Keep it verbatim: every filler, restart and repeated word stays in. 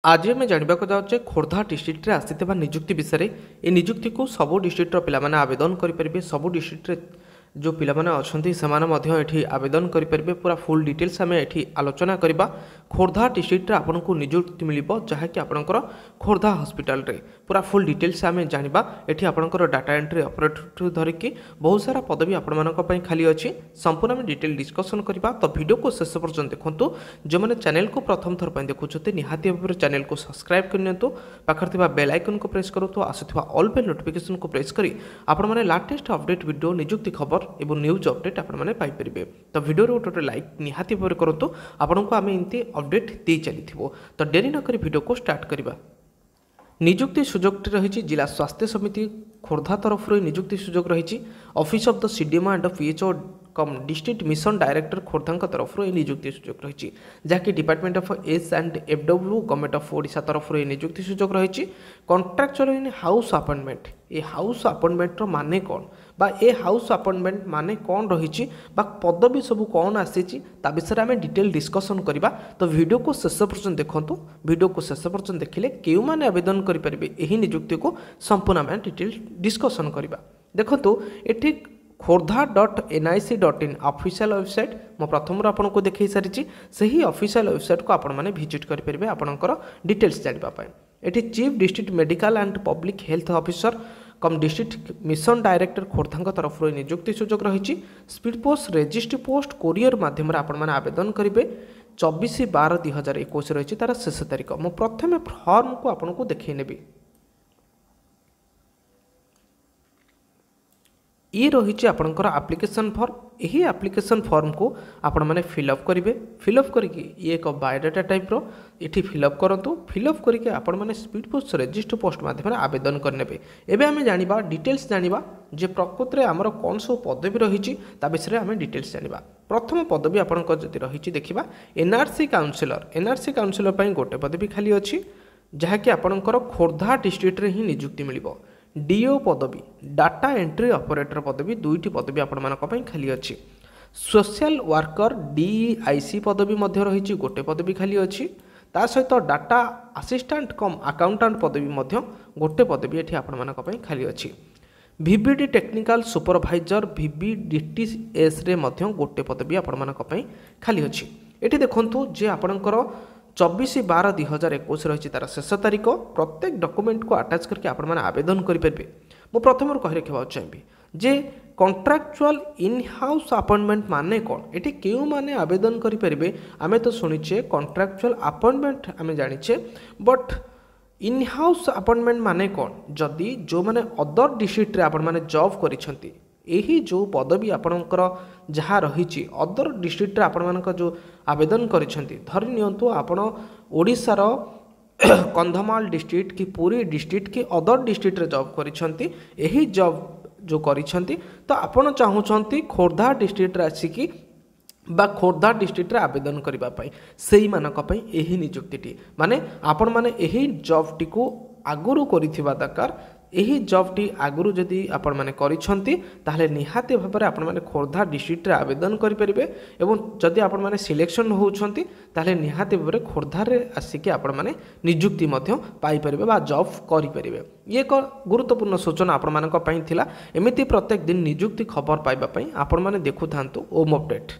ଆଜି ଆମେ ଜାଣିବାକୁ ଯାଉଛେ ଖୋର୍ଦ୍ଧା ଡିଷ୍ଟ୍ରିକ୍ଟରେ ଆସିଥିବା ନିଯୁକ୍ତି ବିଷୟରେ। ଏ ନିଯୁକ୍ତିକୁ ସବୁ ଡିଷ୍ଟ୍ରିକ୍ଟର ପିଲାମାନେ ଆବେଦନ କରିପାରିବେ। ସବୁ ଡିଷ୍ଟ୍ରିକ୍ଟରେ ଯେଉଁ ପିଲାମାନେ ଅଛନ୍ତି, ସେମାନେ ମଧ୍ୟ ଏଠି ଆବେଦନ କରିପାରିବେ। ପୁରା ଫୁଲ୍ ଡିଟେଲ୍ସ ଆମେ ଏଠି ଆଲୋଚନା କରିବା। ଖୋର୍ଦ୍ଧା ଡିଷ୍ଟ୍ରିକ୍ଟରେ ଆପଣଙ୍କୁ ନିଯୁକ୍ତି ମିଳିବ, ଯାହାକି ଆପଣଙ୍କର ଖୋର୍ଦ୍ଧା ହସ୍ପିଟାଲରେ। ପୁରା ଫୁଲ୍ ଡିଟେଲ୍ସ ଆମେ ଜାଣିବା। ଏଠି ଆପଣଙ୍କର ଡାଟା ଏଣ୍ଟ୍ରି ଅପରେଟରଠୁ ଧରିକି ବହୁତ ସାରା ପଦବୀ ଆପଣମାନଙ୍କ ପାଇଁ ଖାଲି ଅଛି। ସମ୍ପୂର୍ଣ୍ଣ ଆମେ ଡିଟେଲ୍ ଡିସ୍କସନ୍ କରିବା, ତ ଭିଡ଼ିଓକୁ ଶେଷ ପର୍ଯ୍ୟନ୍ତ ଦେଖନ୍ତୁ। ଯେଉଁମାନେ ଚ୍ୟାନେଲକୁ ପ୍ରଥମ ଥର ପାଇଁ ଦେଖୁଛନ୍ତି, ନିହାତି ଭାବରେ ଚ୍ୟାନେଲକୁ ସବସ୍କ୍ରାଇବ୍ କରିନିଅନ୍ତୁ। ପାଖରେ ଥିବା ବେଲ୍ ଆଇକନ୍କୁ ପ୍ରେସ୍ କରନ୍ତୁ। ଆସୁଥିବା ଅଲ୍ ବେଲ୍ ନୋଟିଫିକେସନ୍କୁ ପ୍ରେସ୍ କରି ଆପଣମାନେ ଲାଟେଷ୍ଟ ଅପଡେଟ୍ ଭିଡ଼ିଓ, ନିଯୁକ୍ତି ଖବର ଏବଂ ନ୍ୟୁଜ୍ ଅପଡେଟ୍ ଆପଣମାନେ ପାଇପାରିବେ। ତ ଭିଡ଼ିଓରେ ଗୋଟେ ଗୋଟେ ଲାଇକ୍ ନିହାତି ଭାବରେ କରନ୍ତୁ। ଆପଣଙ୍କୁ ଆମେ ଏମିତି ଅପଡେଟ୍ ଦେଇ ଚାଲିଥିବୁ। ତ ଡେରି ନକରି ଭିଡ଼ିଓକୁ ଷ୍ଟାର୍ଟ କରିବା। ନିଯୁକ୍ତି ସୁଯୋଗଟି ରହିଛି ଜିଲ୍ଲା ସ୍ୱାସ୍ଥ୍ୟ ସମିତି ଖୋର୍ଦ୍ଧା ତରଫରୁ। ଏହି ନିଯୁକ୍ତି ସୁଯୋଗ ରହିଛି Office of the C D M O and P H O cum District Mission Director ଖୋର୍ଦ୍ଧାଙ୍କ ତରଫରୁ ଏହି ନିଯୁକ୍ତି ସୁଯୋଗ ରହିଛି, ଯାହାକି Department of H and F W, Government of Odisha ତରଫରୁ ଏହି ନିଯୁକ୍ତି ସୁଯୋଗ ରହିଛି। Contractual in house appointment. ଏ ହାଉସ୍ ଆପଏଣ୍ଟମେଣ୍ଟର ମାନେ କ'ଣ ବା ଏ ହାଉସ୍ ଆପଏଣ୍ଟମେଣ୍ଟ ମାନେ କ'ଣ ରହିଛି ବା ପଦବୀ ସବୁ କ'ଣ ଆସିଛି, ତା ବିଷୟରେ ଆମେ ଡିଟେଲ୍ ଡିସ୍କସନ୍ କରିବା। ତ ଭିଡ଼ିଓକୁ ଶେଷ ପର୍ଯ୍ୟନ୍ତ ଦେଖନ୍ତୁ। ଭିଡ଼ିଓକୁ ଶେଷ ପର୍ଯ୍ୟନ୍ତ ଦେଖିଲେ କେଉଁମାନେ ଆବେଦନ କରିପାରିବେ ଏହି ନିଯୁକ୍ତିକୁ, ସମ୍ପୂର୍ଣ୍ଣ ଆମେ ଡିଟେଲ୍ ଡିସ୍କସନ୍ କରିବା। ଦେଖନ୍ତୁ, ଏଠି Khordha dot N I C dot in official website ମୁଁ ପ୍ରଥମରୁ ଆପଣଙ୍କୁ ଦେଖାଇ ସାରିଛି। ସେହି ଅଫିସିଆଲ୍ ୱେବସାଇଟ୍କୁ ଆପଣମାନେ ଭିଜିଟ୍ କରିପାରିବେ ଆପଣଙ୍କର ଡିଟେଲ୍ସ ଜାଣିବା ପାଇଁ। ଏଠି Chief District Medical and Public Health Officer cum District Mission Director ଖୋର୍ଦ୍ଧାଙ୍କ ତରଫରୁ ଏହି ନିଯୁକ୍ତି ସୁଯୋଗ ରହିଛି। Speed post, register post, courier ମାଧ୍ୟମରେ ଆପଣମାନେ ଆବେଦନ କରିବେ। ଚବିଶ ବାର ଦୁଇ ହଜାର ଏକୋଇଶ ରହିଛି ତା'ର ଶେଷ ତାରିଖ। ମୁଁ ପ୍ରଥମେ ଫର୍ମକୁ ଆପଣଙ୍କୁ ଦେଖାଇ ନେବି। ଇଏ ରହିଛି ଆପଣଙ୍କର ଆପ୍ଲିକେସନ୍ ଫର୍ମ। ଏହି ଆପ୍ଲିକେସନ୍ ଫର୍ମକୁ ଆପଣମାନେ ଫିଲ୍ଅପ୍ କରିବେ। ଫିଲ୍ଅପ୍ କରିକି ଇଏ ଏକ ବାୟୋଡାଟା ଟାଇପ୍ର, ଏଠି ଫିଲ୍ଅପ୍ କରନ୍ତୁ। ଫିଲ୍ଅପ୍ କରିକି ଆପଣମାନେ ସ୍ପିଡ୍ ପୋଷ୍ଟ, ରେଜିଷ୍ଟର ପୋଷ୍ଟ ମାଧ୍ୟମରେ ଆବେଦନ କରିନେବେ। ଏବେ ଆମେ ଜାଣିବା, ଡିଟେଲ୍ସ ଜାଣିବା ଯେ ପ୍ରକୃତରେ ଆମର କ'ଣ ସବୁ ପଦବୀ ରହିଛି, ତା ବିଷୟରେ ଆମେ ଡିଟେଲ୍ସ ଜାଣିବା। ପ୍ରଥମ ପଦବୀ ଆପଣଙ୍କର ଯଦି ରହିଛି ଦେଖିବା, ଏନ୍ଆର୍ସି କାଉନସିଲର। ଏନ୍ଆର୍ସି କାଉନସିଲର ପାଇଁ ଗୋଟେ ପଦବୀ ଖାଲି ଅଛି, ଯାହାକି ଆପଣଙ୍କର ଖୋର୍ଦ୍ଧା ଡିଷ୍ଟ୍ରିକ୍ଟରେ ହିଁ ନିଯୁକ୍ତି ମିଳିବ। ଡିଓ ପଦବୀ, ଡାଟା ଏଣ୍ଟ୍ରି ଅପରେଟର ପଦବୀ, ଦୁଇଟି ପଦବୀ ଆପଣମାନଙ୍କ ପାଇଁ ଖାଲି ଅଛି। ସୋସିଆଲ ୱାର୍କର ଡିଇଆଇସି ପଦବୀ ମଧ୍ୟ ରହିଛି, ଗୋଟେ ପଦବୀ ଖାଲି ଅଛି। ତା ସହିତ ଡାଟା ଆସିଷ୍ଟାଣ୍ଟ କମ୍ ଆକାଉଣ୍ଟାଣ୍ଟ ପଦବୀ ମଧ୍ୟ ଗୋଟେ ପଦବୀ ଏଠି ଆପଣମାନଙ୍କ ପାଇଁ ଖାଲି ଅଛି। ଭିବିଡି ଟେକ୍ନିକାଲ ସୁପରଭାଇଜର ଭିବିଡିଟିଏସ୍ରେ ମଧ୍ୟ ଗୋଟେ ପଦବୀ ଆପଣମାନଙ୍କ ପାଇଁ ଖାଲି ଅଛି। ଏଠି ଦେଖନ୍ତୁ ଯେ ଆପଣଙ୍କର ଚବିଶ ବାର ଦୁଇ ହଜାର ଏକୋଇଶ ରହିଛି ତା'ର ଶେଷ ତାରିଖ। ପ୍ରତ୍ୟେକ ଡକୁମେଣ୍ଟକୁ ଆଟାଚ୍ କରିକି ଆପଣମାନେ ଆବେଦନ କରିପାରିବେ। ମୁଁ ପ୍ରଥମରୁ କହି ରଖିବାକୁ ଚାହିଁବି ଯେ କଣ୍ଟ୍ରାକ୍ଚୁଆଲ ଇନ୍ ହାଉସ୍ ଆପଏଣ୍ଟମେଣ୍ଟ ମାନେ କ'ଣ, ଏଠି କେଉଁମାନେ ଆବେଦନ କରିପାରିବେ? ଆମେ ତ ଶୁଣିଛେ କଣ୍ଟ୍ରାକ୍ଚୁଆଲ ଆପଏଣ୍ଟମେଣ୍ଟ, ଆମେ ଜାଣିଛେ, ବଟ୍ ଇନ୍ ହାଉସ୍ ଆପଏଣ୍ଟମେଣ୍ଟ ମାନେ କ'ଣ? ଯଦି ଯେଉଁମାନେ ଅଦର ଡିଷ୍ଟ୍ରିକ୍ଟରେ ଆପଣମାନେ ଜବ୍ କରିଛନ୍ତି, ଏହି ଯେଉଁ ପଦବୀ ଆପଣଙ୍କର ଯାହା ରହିଛି, ଅଦର ଡିଷ୍ଟ୍ରିକ୍ଟରେ ଆପଣମାନଙ୍କ ଯେଉଁ ଆବେଦନ କରିଛନ୍ତି, ଧରି ନିଅନ୍ତୁ ଆପଣ ଓଡ଼ିଶାର କନ୍ଧମାଳ ଡିଷ୍ଟ୍ରିକ୍ଟ କି ପୁରୀ ଡିଷ୍ଟ୍ରିକ୍ଟ କି ଅଦର ଡିଷ୍ଟ୍ରିକ୍ଟରେ ଜବ୍ କରିଛନ୍ତି, ଏହି ଜବ୍ ଯେଉଁ କରିଛନ୍ତି, ତ ଆପଣ ଚାହୁଁଛନ୍ତି ଖୋର୍ଦ୍ଧା ଡିଷ୍ଟ୍ରିକ୍ଟରେ ଆସିକି ବା ଖୋର୍ଦ୍ଧା ଡିଷ୍ଟ୍ରିକ୍ଟରେ ଆବେଦନ କରିବା ପାଇଁ, ସେଇମାନଙ୍କ ପାଇଁ ଏହି ନିଯୁକ୍ତିଟି। ମାନେ ଆପଣମାନେ ଏହି ଜବ୍ଟିକୁ ଆଗରୁ କରିଥିବା ଦରକାର। ଏହି ଜବ୍ଟି ଆଗରୁ ଯଦି ଆପଣମାନେ କରିଛନ୍ତି, ତାହେଲେ ନିହାତି ଭାବରେ ଆପଣମାନେ ଖୋର୍ଦ୍ଧା ଡିଷ୍ଟ୍ରିକ୍ଟରେ ଆବେଦନ କରିପାରିବେ ଏବଂ ଯଦି ଆପଣମାନେ ସିଲେକ୍ସନ୍ ହେଉଛନ୍ତି, ତାହେଲେ ନିହାତି ଭାବରେ ଖୋର୍ଦ୍ଧାରେ ଆସିକି ଆପଣମାନେ ନିଯୁକ୍ତି ମଧ୍ୟ ପାଇପାରିବେ ବା ଜବ୍ କରିପାରିବେ। ଇଏ ଏକ ଗୁରୁତ୍ୱପୂର୍ଣ୍ଣ ସୂଚନା ଆପଣମାନଙ୍କ ପାଇଁ ଥିଲା। ଏମିତି ପ୍ରତ୍ୟେକ ଦିନ ନିଯୁକ୍ତି ଖବର ପାଇବା ପାଇଁ ଆପଣମାନେ ଦେଖୁଥାନ୍ତୁ ଓମ୍ ଅପଡେଟ୍।